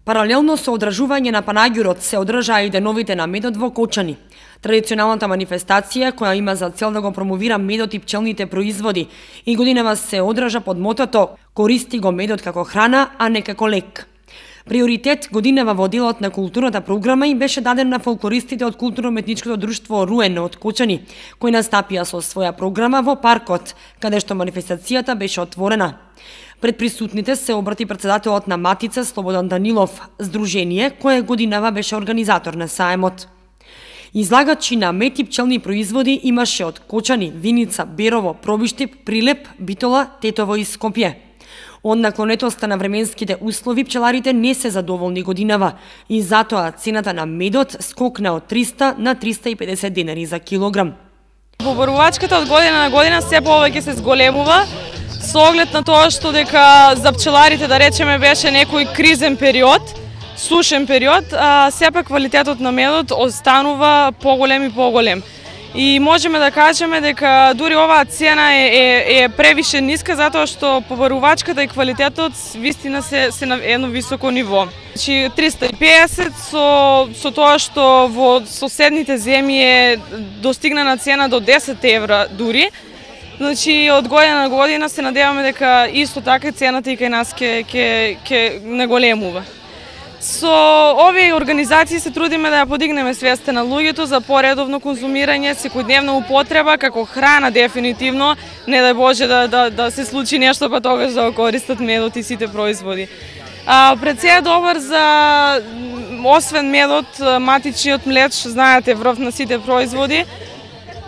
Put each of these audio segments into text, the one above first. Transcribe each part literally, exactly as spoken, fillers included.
Паралелно со одржување на панаѓурот се одржаа и деновите на медот во Кочани. Традиционалната манифестација, која има за цел да го промовира медот и пчелните производи, и годинава се одржа под мотото "Користи го медот како храна, а не како лек". Приоритет годинава во делот на културната програма им беше даден на фолклористите од културно-уметничкото друштво Руен од Кочани, кои настапија со своја програма во паркот, каде што манифестацијата беше отворена. Пред присутните се обрати председателот на Матица Слободан Данилов, здружение кое годинава беше организатор на саемот. Излагачи на мед и пчелни производи имаше од Кочани, Виница, Берово, Пробиштип, Прилеп, Битола, Тетово и Скопје. Од наклонетоста на временските услови пчеларите не се задоволни годинава и затоа цената на медот скокна од триста на триста и педесет денари за килограм. Побарувачката од година на година се повеќе се зголемува, со оглед на тоа што дека за пчеларите, да речеме, беше некој кризен период, сушен период, а сепак квалитетот на медот останува поголем и поголем. И можеме да кажеме дека дури оваа цена е, е, е превише ниска, затоа што побарувачката и квалитетот вистина се, се на едно високо ниво. Значи триста и педесет со, со тоа што во соседните земји е достигнана цена до десет евра дури. Значи од година на година се надеваме дека исто така цената и кај нас ќе ќе ќе наголемува. Со овие организации се трудиме да ја подигнеме свеста на луѓето за поредовно конзумирање, секојдневна употреба како храна дефинитивно, не дај Боже да да да се случи нешто па тогаш да го користат медот и сите производи. А пред се е добар за освен медот, матичниот млеч, знаете, врв на сите производи,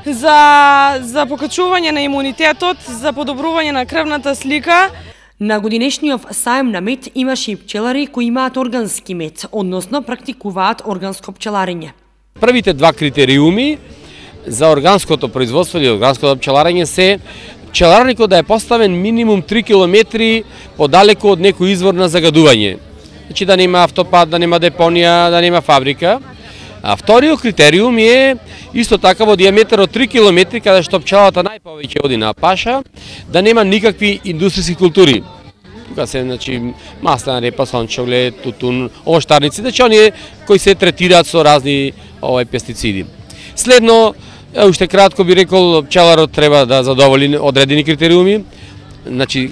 за за покачување на имунитетот, за подобрување на крвната слика. На годинешниот саем на мед имаше и пчелари кои имаат органски мед, односно практикуваат органско пчеларење. Првите два критериуми за органското производство или органското пчеларење се пчеларникот да е поставен минимум три километри подалеку од некој извор на загадување. Значи да нема автопат, да нема депонија, да нема фабрика. А вториот критериум е исто така во диаметар од три километри, каде што пчелата најповеќе оди на паша, да нема никакви индустријски култури. Тука се, значи, маслена репа, сончоглед, тутун, овоштарници, значи оние кои се третираат со разни овој пестициди. Следно, уште кратко би рекол, пчеларот треба да задоволи одредени критериуми, значи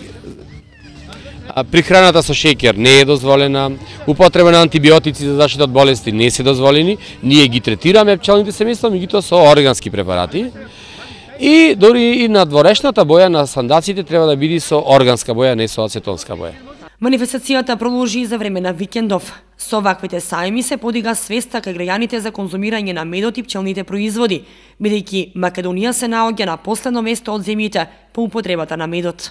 прихраната со шеќер не е дозволена, употреба на антибиотици за заштита од болести не се дозволени, ние ги третираме пчелните семејства, меѓутоа со органски препарати. И дори и на дворешната боја на сандаците треба да биде со органска боја, не со ацетонска боја. Манифестацијата продолжи за време на викендов. Со ваквите саеми се подига свеста кај граѓаните за конзумирање на медот и пчелните производи, бидејќи Македонија се наоѓа на последно место од земјите по употребата на медот.